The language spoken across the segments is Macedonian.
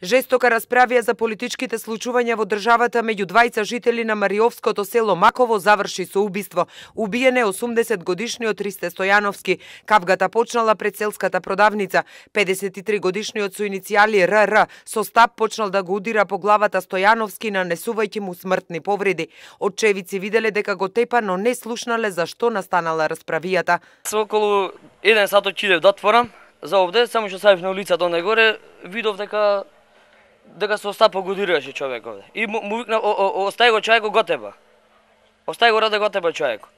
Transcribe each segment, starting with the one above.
Жестока расправија за политичките случувања во државата меѓу двајца жители на Мариовското село Маково заврши со убиство. Убиен е 80-годишниот Ристе Стојановски. Кавгата почнала пред селската продавница. 53-годишниот со иницијали РР со стап почнал да го удира по главата Стојановски, нанесувајќи му смртни повреди. Очевици виделе дека го тепа, но не слушнале зашто настанала расправијата. Со околу 1 сат отидев да отворам за овде, само што сајав на улицата онде горе, видов дека со стапо го удираше човек овде. И му викна, остај го човекот, го теба. Остај го раде, го теба човекот.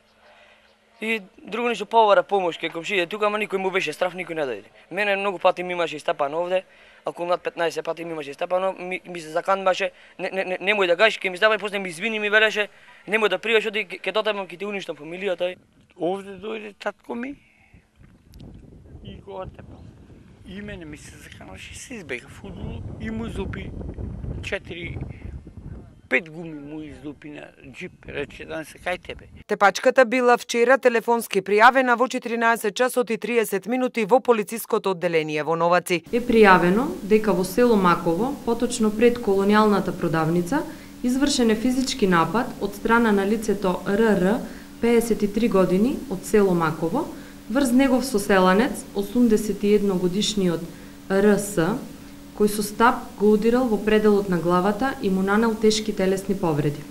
И друго ништо повара помош кај комшиите тука, ама никој му беше страф, никој не дојде. Мене многу пати ми имаше истапано овде, околу над 15 пати ми имаше истапано, ми се заканбаше, немој да гаш, ке ми стапај, после ми извини, ми велеше, немој да пријаш, оди ке дотемам, ке ти уништам фамилијата. Овде дојде татко ми и го отепал. И мене ми се заканаше, се избега фудбал и му излупи 5 гуми му излупи на джип, рече да не се кај тебе. Тепачката била вчера телефонски пријавена во 14 часот и 30 минути во полициското одделение во Новаци. Е пријавено дека во село Маково, поточно пред колонијалната продавница, извршен е физички напад од страна на лицето РР, 53 години, од село Маково, врз негов соселанец, 81 годишниот РС, кој со стап го удирал во пределот на главата и му нанел тешки телесни повреди.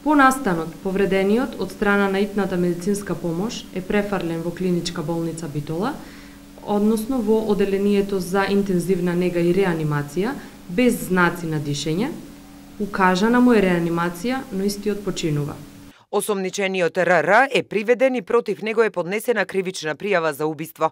По настанот, повредениот од страна на итната медицинска помош е префрлен во клиничка болница Битола, односно во одделението за интензивна нега и реанимација, без знаци на дишење. Укажана му е реанимација, но истиот починува. Осомничениот РР е приведен и против него е поднесена кривична пријава за убиство.